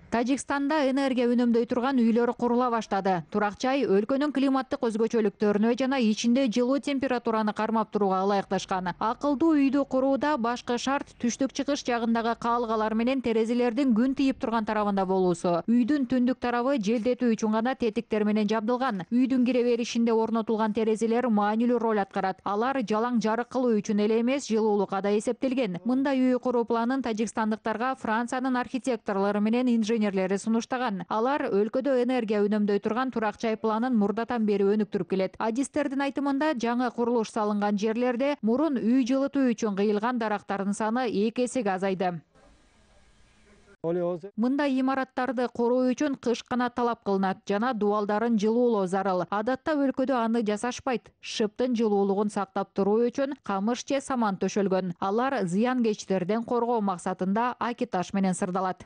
Тажикстанда энергия үнөмдөй турган үйлөр курула баштады. Турак жай өлкөнүн климаттык өзгөчөлүктөрүнө жана ичинде жылуу температураны кармап турууга ылайыкташкан. Акылдуу үйдү курууда башкы шарт түштүк чыгыш жагындагы каалгалар менен терезелердин күн тийип турган тарабында болуусу. Үйдүн түндүк тарабы желдетүү үчүн гана тетиктер менен жабдылган. Үйдүн кире беришинде орнотулган терезелер маанилүү роль аткарат. Алар жалаң жарык кылуу үчүн эле эмес, жылуулукка да эсептелген. Мындай үй куруу планын тажикстандыктарга Франциянын архитекторлору менен инженерлери сунуштаган. Алар өлкөдө энергия үнөмдөй турган турак жай планын мурдатан бери өнүктүрүп келет. Адистердин айтымында, жаңы курулуш салынган жерлерде мурун үй жылытуу үчүн кыйылган дарактардын саны 2 эсеге азайды. Мындай имараттарды куруу үчүн кыш канат талап кылынат жана дубалдарын жылуулоо зарыл. Адатта өлкөдө аны жасашпайт. Шыптын жылуулугун сактап туруу үчүн камыш же саман төшөлгөн. Алар зыянкечтерден коргоо максатында аки таш менен сырдалат.